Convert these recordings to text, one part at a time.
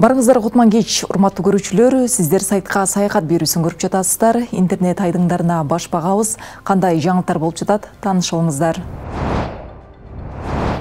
Барыңыздар кутман кеч, урматтуу көрүүчүлөр, сиздер сайтка саякат берүүсүн көрүп жатасыздар. Интернет айдыңдарына баш багабыз. Кандай жаңылыктар болуп жатат, тааныша алыңыздар.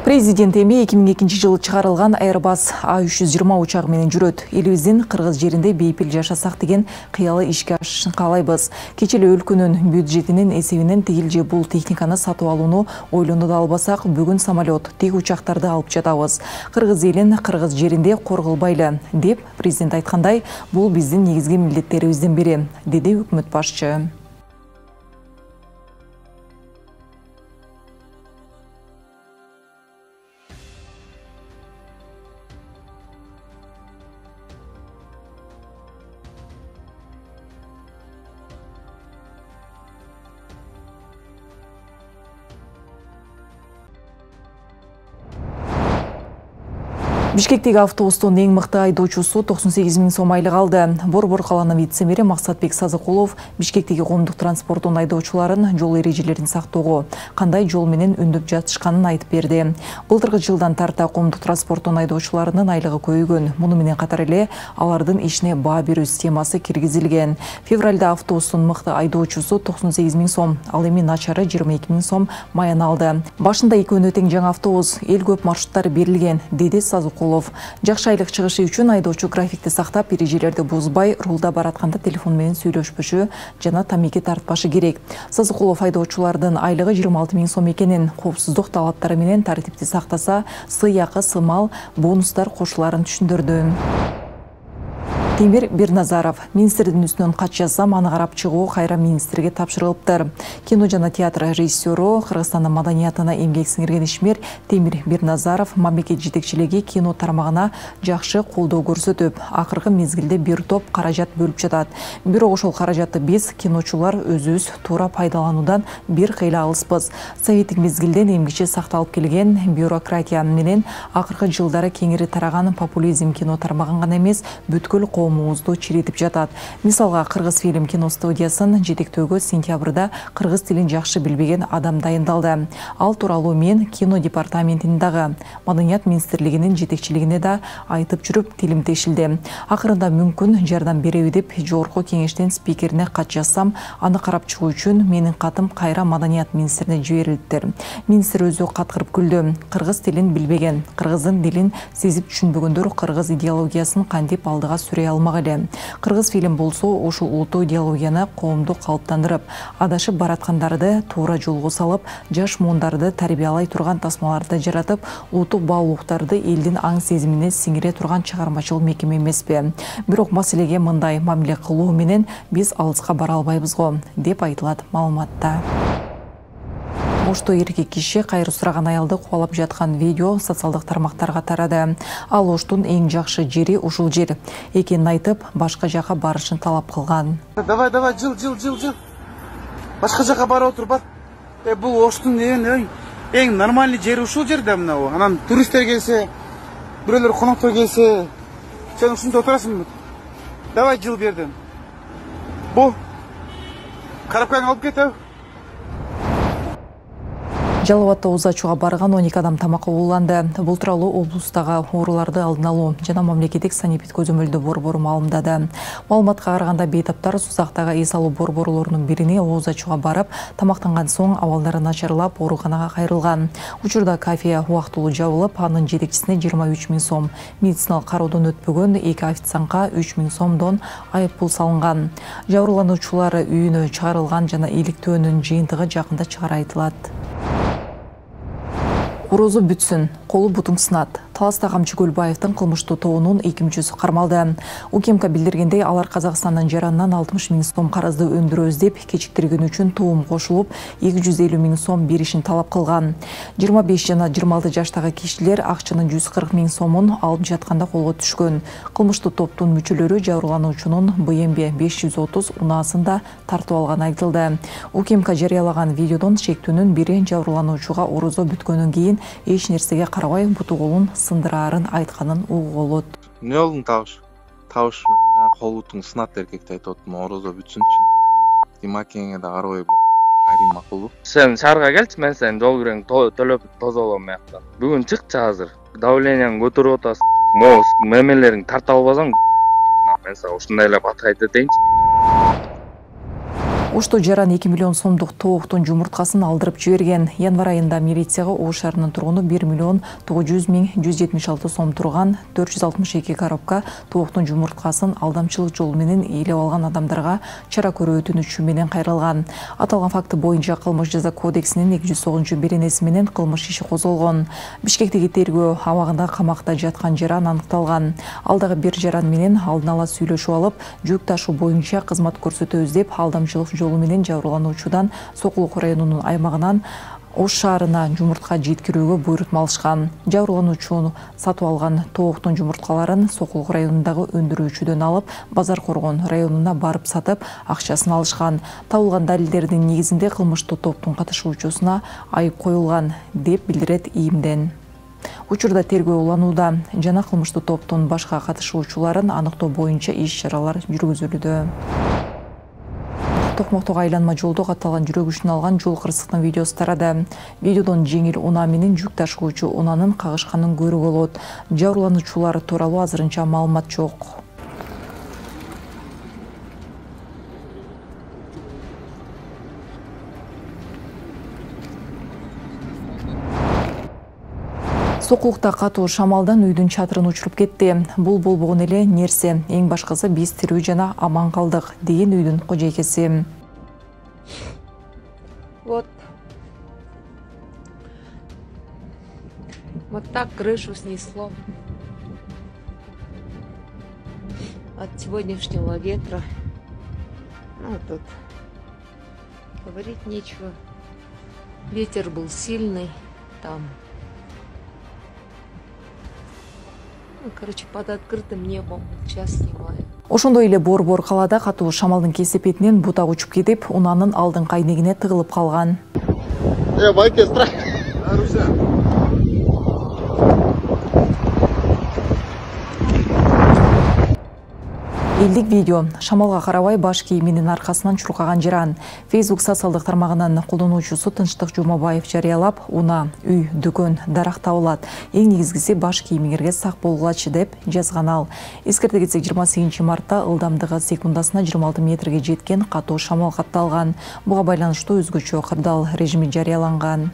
Президент эми 2002 жылы чыгарылган Airbus A320 учагы менен жүрөт. Элибиздин кыргыз жеринде бейпил жашасак деген кыялы ишке ашышын каалайбыз. Кечээ эле өлкөнүн бюджетинин эсебинен тигил же бул техниканы сатып алууну ойлоно да албасак, бүгүн самолет, тиг учактарды алып жатабыз. Кыргыз элин кыргыз жеринде корголбайлы деп президент айткандай, бул биздин негизги милдеттерибиздин бири, деди өкмөт башчы. Бишкектеги автобустун эң мыкты айдоочусу 98 000 сом айлык алды. Борбор калаанын вице-мэри Максатбек Сазыкулов Бишкектеги коомдук транспорттун айдоочуларын жол эрежелерин сактоого, кандай жол менен үндөп жатышканын айтып берди. Былтыркы жылдан тарта коомдук транспорттун айдоочуларынын айлыгы көбөйгөн. Муну менен катар эле алардын ишине баа берүү системасы киргизилген. Февралда автобустун мыкты айдоочусу 98 000 сом, ал эми начары 22 000 сом маян алды. Башында экөөнө тең жаңы автобус, эл көп маршруттар берилген, деди Сазыкулов. Жакшы айлык чыгышы үчүн айдоочу графикти сактап, эрежелерди бузбай, рулда баратканда телефон менен сүйлөшпөшү жана тамеки тартпашы керек. Сазыкулов айдоочулардын айлыгы 26 000 сом экенин, коопсуздук талаптары менен тартипти сактаса, сыйакы, сымал, бонустар кошуларын түшүндүрдү. Темир Бирназаров министрдин үстүнөн кат жазсам, аны карап чыгуу кайра министрге тапшырылыптыр. Кино жана театр режиссеру, Кыргызстандын маданиятына эмгек сиңирген ишмер Темир Бирназаров мамлекет жетекчилиги кино тармагына жакшы колдоо көрсөтүп, акыркы мезгилде бир топ каражат бөлүп жатат. Бирок ошол каражатты биз, киночулар, өзүбүз туура пайдалануудан бир кыйла алыспыз. Советтик мезгилден эмгиче сакталып келген бюрократия менен акыркы жылдары кеңири тараган популизм кино тармагын гана эмес, бүткүл коомубузду чиритип жатат. Мисалга, Кыргыз фильм кино студиясын жетектөөгө сентябрда кыргыз тилин жакшы билбеген адам дайындалды. Ал тууралуу мен кино департаментинин дагы, Маданият министрлигинин жетекчилигине да айтып жүрүп, тилим тешилди. Акырында мүмкүн жардам береби деп жогорку кеңештин спикерине кат жазсам, аны карап чыгуу үчүн менин катым кайра Маданият министрине жиберилиптир. Министр өзү каткырып күлдү. Кыргыз тилин билбеген, кыргыздын дилин сезип түшүнбөгөндөр кыргыз идеологиясын кантип алдыга сүрөй алмак эле. Кыргыз фильм болсо ушул улуттуу идеологияны коомду калыптандырып, адашып бараткандарды туура жолго салып, жаш муундарды тарбиялай турган тасмаларды жаратып, улуттук баалуулуктарды элдин аң сезимине сиңире турган чыгармачыл мекеме эмеспи? Бирок маселеге мындай мамиле кылуу менен биз алыска бара албайбыз го, деп айтылат маалыматта. Ошто эркек киши кайры сураган аялды кубалап жаткан видео социалдык тармактарга тарады. Ал Оштун эң жакшы жери ушул жер экенин айтып, башка жака барышын талап кылган. Давай, жыл. Башка жака барып отур, бар. Бул Оштун эң нормальный жери ушул жер да мына. Анан туристтер келсе, бирөөлөр коноктор келсе, сен ушунда отурасың. Давай жыл бердим. Бу карапканы алып кетип. Жалал Абадта ооз ачууга барган 12 адам тамакка ууланды. Бул тууралуу облустагы ооруларды алдын алуу жана мамлекеттик санэпид көзөмөлдөө борбору маалымдады. Маалыматка караганда, бейтаптар Сузактагы эс алуу борборлорунун бирине ооз ачууга барып, тамактанган соң абалдары начарлап, ооруканага кайрылган. Учурда кафе убактылуу жабылып, анын жетекчисине 23 000 сом, медициналык кароодон өтпөгөн 2 официантка 3 000 сомдон айып пул салынган. Жабырлануучулар үйүнө чыгарылган жана иликтөөнүн жыйынтыгы жакында чыгары айтылат. Орозу бүтсүн, колу бутуң сынат. Таласта Камчы Көлбаевдин кылмыштуу тобунун 2 мүчөсү кармалды. УКМК билдиргендей, алар Казакстандын жаранынан 60 000 сом карызды өндүрөбүз деп кечиктиргөн үчүн туум кошулуп, 250 000 сом беришин талап кылган. 25 жана 26 жаштагы кишилер акчанын 140 000 сомун алып жатканда колго түшкөн. Кылмыштуу топтун мүчөлөрү жабырлануучунун БМВ 530 унаасын да тартып алганы айтылды. УКМК жарыялаган видеодон шектүүнүн бири жабырлануучуга орозо бүткөндөн кийин эч нерсеге карабай буту колун сындыраарын айтканын угууга болот. Не болдун табыш кол бутуң сынат эркекти айтып атам, орозо бүтсүнчү. Димакеңе да карабай айрым макулбу. Сен шаарга келчи, мен сени жол кирен төлөп тозолом аякта. Бүгүн чыкчы азыр. Давленияң көтөрүп атасың. могу мемелериңди тарта албасаң мен сага ушундай эле бат айта дейинчи. Ошто жаран 2 миллион сомдук тооктун жумурткасын алдырып жиберген. Январь айында милицияга Ош шаарынын тургуну 1 миллион 900 миң 176 сом турган 462 коробка тооктун жумурткасын алдамчылык жолу менен ээлеп алган адамдарга чара көрүү өтүнүчү менен кайрылган. Аталган факты боюнча Кылмыш жаза кодексинин 209-беренеси менен кылмыш иши козголгон. Бишкектеги тергөө абагында камакта жаткан жаран аныкталган. Ал дагы бир жаран менен алдын ала сүйлөшүп алып, жүк ташуу боюнча кызмат көрсөтөбүз деп алдамчылык жолу менен жабырлануучудан Сокулук районунун аймагынан Ош шаарына жумуртка жеткирүүгө буйрутма алышкан. Жабырлануучу сатып алган тооктун жумурткаларын Сокулук районундагы өндүрүүчүдөн алып, Базар Коргон районуна барып сатып, акчасын алышкан. Табылган далилдердин негизинде кылмыштуу топтун катышуучусуна айып коюлган деп билдирет ИИМден. Учурда тергөө уланууда жана кылмыштуу топтун башка катышуучуларын аныктоо боюнча иш-чаралар жүргүзүлүүдө. Токмоктогу айланма жолдо катталган жүрөк үчүн алган жол кырсыктын видеосу тарады. Видеодон жеңил унаа менен жүк ташуучу унаанын кагышканын көрүүгө болот. Жабырлануучулар тууралуу азырынча маалымат жок. Сокулукта катуу шамалдан үйдүн чатырын учуруп кетти. Бул болбогон эле нерсе. Эң башкысы биз тирүү жана аман калдык, деген үйдүн кожойкеси. Вот так крышу снесло от сегодняшнего ветра. Ну, тут говорить нечего. Ветер был сильный там. Ну, короче, под открытым небом. Сейчас снимаю. Ошондой эле Борбор калаада катуу шамалдын кесепетинен бутак учуп кетип, унаанын алдыңкы айнегине тыгылып калган. Майке, страх. Элдик видео. Шамалга карабай баш кийиминин аркасынан чуркаган жаран. Facebook социалдык тармагынын колдонуучусу Тынчтык Жумабаев жарыялап, унаа, үй, дүкөн, дарак табылат. Эң негизгиси баш кийимиңерге сак болгулачы деп жазган ал. Эскерте кетсек, 28 мартта ылдамдыгы секундасына 26 метрге жеткен катуу шамал катталган. Буга байланыштуу өзгөчө кырдаал режими жарыяланган.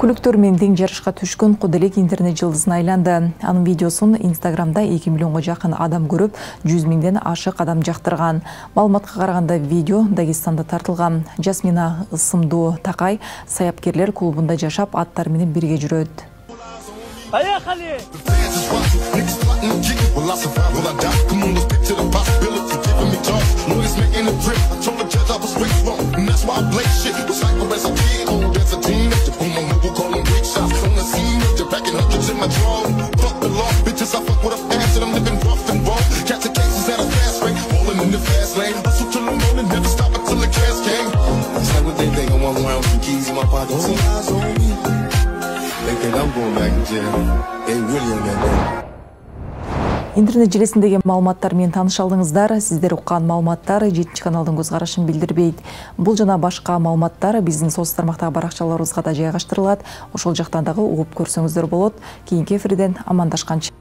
Күлүктөр менен тең жарышка түшкөн Кудылек интернет жылдызына айланды. Анын видеосун Инстаграмда 2 миллионго жакын адам көрүп, 100 миңден ашык адам жактырган. Маалыматка караганда видео Дагестанда тартылган. Жасмина ысымдуу Такай саяпкерлер клубунда жашап, аттар менен бирге жүрөт. Поехали! Интернет желесиндеги маалыматтар менен тааныша алдыңыздар. Сиздер уккан маалыматтар 7 каналдын көз карашын билдирбейт. Бул жана башка маалыматтар биздин социалдык тармактагы баракчаларыбызга да жайгаштырылат. Ошол жактан дагы угуп көрсөңүздөр болот. Кийинки эфирден амандашканча.